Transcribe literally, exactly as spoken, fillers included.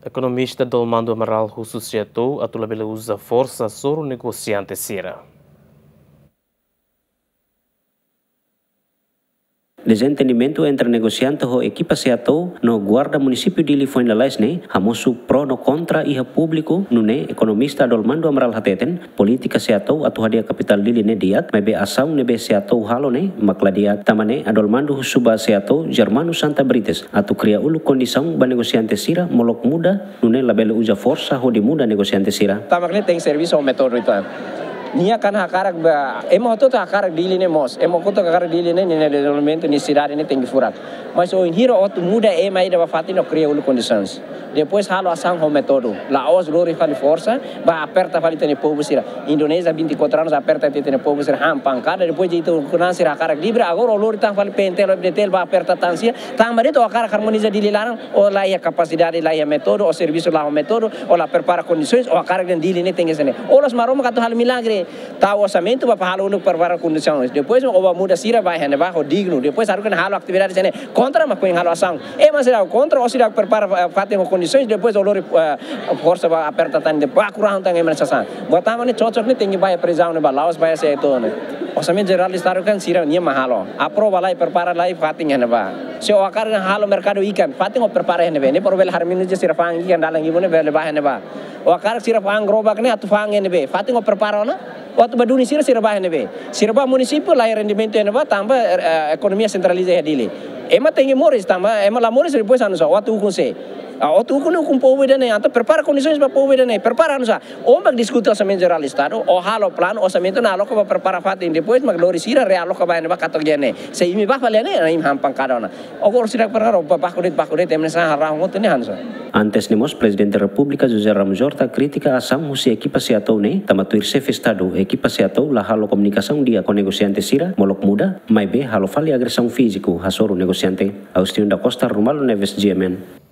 Ekonomista Adolmando Amaral husu SEATOU atu labele uza forsa hasoru negosiante sira. Dezentendimentu entre negosiante ho ekipa SEATOU no guarda munisípiu Dili foin lalais ne'e hamosu pro no kontra iha públiku, nune'e ekonomista Adolmando Amaral hateten, polítika SEATOU atu hadi'a kapitál Dili ne'e di'ak, maibé asaun ne'ebé SEATOU halo ne'e mak la di'ak. Tanba ne'e Adolmando husu ba SEATOU Germano Santa Brites atu kria uluk kondisaun ba negosiante sira molok muda, nune'e labele uza forsa hodi muda negosiante sira. Tanba ne'e tenke servisu ho métodu ituan. Nia kan hakarak ba, ema hotu-hotu hakarak Dili ne'e mós, ema hotu-hotu hakarak Dili ne'e, nia dezenvolvimentu, nia sidade ne'e tenke furak. Mas bainhira atu muda ema ida ba fatin, kria uluk kondisaun. Depois halo asaun ho métodu. La'ós lori fali forsa, ba aperta fali ita-nia povu sira. Indonézia vinte e quatro anos aperta ita-nia povu sira, han pankada, depois ita ukun-an sira hakarak livre, agora ó lori tan fali PNTL, PNTL ba aperta tan sira, tanba de'it ó hakarak harmoniza Dili laran, ó la iha kapasidade, la iha métodu, ó servisu la ho métodu, ó la prepara kondisaun, ó hakarak dehan Dili ne'e tenke hanesan ne'e. Ó la'ós Maromak atu halo milagre, tau orsamentu ba halo uluk prepara kondisaun. Depois ó ba muda sira ba iha ne'ebá ho dignu. Depois haruka halo atividade hanesan ne'e. Kontra mak foin halo asaun. Ema sira kontra, ó sira prepara, eh, fatin ho kondisaun, depois ó lori, eh, forsa ba aperta tan, depois baku rahun tan ema sasán. Buat ema ne'e cocok ne'e tenke ba iha prizaun ne'ebá, la'ós ba iha SEATOU ne'e. Orsamentu Jerál Estadu kan sira-nian mak halo. Aprova lai, prepara lai fatin iha ne'ebá. Se ó hakarak halo merkadu ikan, fatin ó prepara iha ne'ebé. Ne'e para bele harmoniza sira fa'an ikan dalan ibu ne'e bele ba iha ne'ebá. Ó hakarak sira fa'an gerobak ne'e atu fa'an iha ne'ebé. Fatin ó prepara ona. Ó atu ba duni sira, sira ba iha ne'ebé. Sira ba munisípiu la iha rendimentu iha ne'ebá tanba, eh, ekonomia sentraliza iha Dili. Ema tenke moris tanba, ema la moris depois hanesan ó atu ukun sé. Ah, ó atu ukun, ukun povu ida-ne'e, entaun prepara kondisaun ba povu ida-ne'e, prepara hanesan. Ó mak diskute Orsamentu Jerál Estadu, ó halo planu, orsamentu ne'e aloka ba prepara fatin, depois mak lori sira realoka ba iha ne'ebá katak iha ne'e. Se imi ba fali iha ne'e, imi han pankada ona. Agora sira prepara, ba baku de'it, baku de'it, ema sira harahun hotu ne'e hanesan. Antes ne'e mós Prezidente Repúblika José Ramos Horta kritika asaun husi ekipa SEATOU ne'e, tanba tuir xefe Estadu, ekipa SEATOU la halo komunikasaun di'ak ho negosiante sira molok muda, maibé halo fali agresaun fíziku hasoru negosiante. Agostinho da Costa, Romualdo Neves, GMN.